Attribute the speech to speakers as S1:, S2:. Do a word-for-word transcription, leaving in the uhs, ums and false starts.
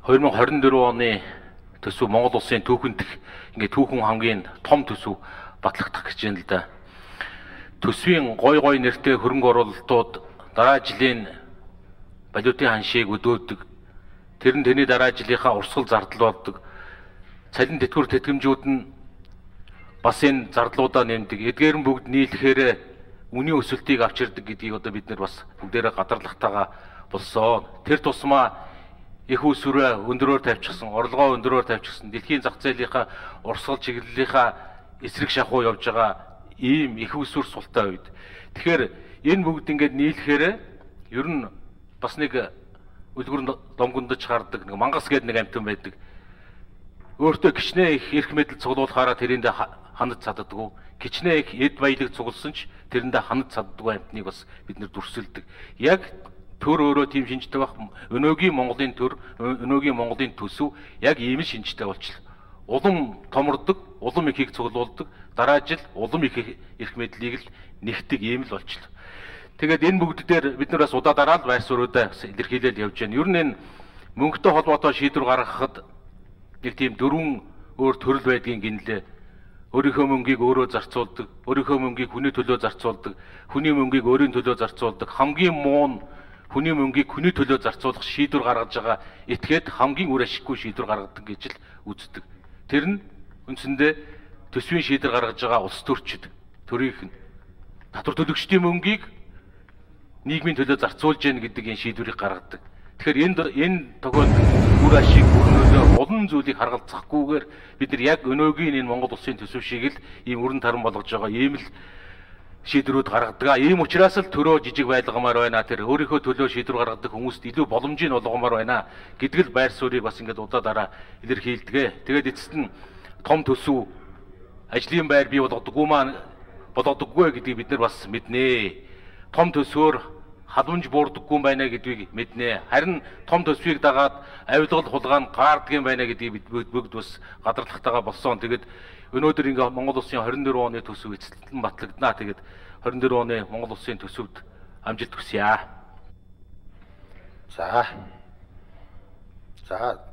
S1: хоёр мың хорин дөрөв оны төсөв Монгол улсын түүхэнд ингээ түүхэн хамгийн том төсөв батлагдах гэж байна л да. Төсвийн гой гой нэртэй хөрөнгө оруулалтууд дараа жилийн валютын ханшийг өдөөдөг. Тэр нь тэний дараа жилийнхаа урсгал зардал болдог. Цалин тэтгэвэр тэтгэмжүүд нь бас энэ зардлуудаа нэмдэг. Эдгээр нь бүгд нийлэхээр үнийн өсөлтийг авчирдаг гэдгийг одоо бид нар бас бүгдээрээ гадарлахтайгаа болсон. Тэр тусмаа их усүрээ өндөрөөр тавьчихсан, орлогоо өндөрөөр тавьчихсан, дэлхийн зах зээлийнхаа урсгал чиглэлийнхаа эсрэг шахуу явж байгаа ийм их усүр султай үед. Тэгэхээр энэ бүгд ингээд нийлэхээр ер нь бас нэг үлгэр домгондож гардаг нэг мангас гэдэг нэг амтан байдаг. Өөртөө кичнээ их эрх мэдэл цуглуулахаараа тэрэндээ ханаж цаддаггүй. Кичнээ их эд баялаг цугласан ч тэрэндээ ханаж цаддаггүй амтныг бас бид нэр дүрсэлдэг. Яг төр өөрөө тийм шинжтэй байх. Өнөөгийн Монголын төр, өнөөгийн Монголын төсөв яг ийм л шинжтэй болчихлоо. Улам томордог, улам ихийг цуглуулдаг, дараа жил улам их эрх мэдлийг л нэгтэг ийм л болчихлоо. Тэгээд энэ бүгд дээр бид нар бас удаа дараа л байр суурьудаа илэрхийлэл явж байна. Ер нь энэ мөнгөтэй холбоотой шийдвэр гаргахад нэг тийм дөрвөн өөр төрөл байдгийн гинлээ. Өөрийнхөө мөнгийг өөрөө зарцуулдаг, өөрийнхөө мөнгийг хүний төлөө зарцуулдаг, хүний мөнгийг өөрийн төлөө зарцуулдаг, хамгийн муу нь хүний мөнгийг хүний төлөө зарцуулах шийдвэр гаргаж байгаа этгээд хамгийн үр ашиггүй шийдвэр гаргадаг гэж л үздэг. Тэр нь үндсэндээ төсвийн шийдвэр гаргаж байгаа улс төрчид, төрийнх нь татвар төлөгчдийн мөнгийг нийгмийн төлөө зарцуулж яах гэдэг энэ шийдвэрийг гаргадаг. Тэгэхээр энд энэ тохиолдолд үр ашиг өрнөлөө олон зүйлийг харгалзахгүйгээр бид нар яг өнөөгийн энэ Монгол улсын төсөв шиг л ийм өрн таран болгож байгаа ийм л шийдвэрүүд гаргадаг. Ийм учраас л төрөө жижиг байлгамаар байна. Тэр өөрийнхөө төлөө шийдвэр гаргадаг хүмүүст илүү боломжийг олгомоор байна гэдэг л байр суурийг бас ингээд удаа дараа илэрхийлдэг. Тэгээд эцэст нь том төсөв ажлын байр бий болгодоггүй маань болгодоггүй гэдгийг бид нар бас мэднэ. Том төсвөөр хадамж буурдаггүй байна гэдгийг мэднэ. Харин том төсвийг дагаад авилгал хулгай gaardдаг байна гэдгийг бид бүгд бас гадарлахтайгаа болсон. Тэгээд өнөөдөр ингээ Монгол улсын хорин дөрөв оны төсөв эцэлтэн батлагдана. Тэгээд хорин дөрөв оны Монгол улсын төсөвд амжилт хүсье.
S2: За. За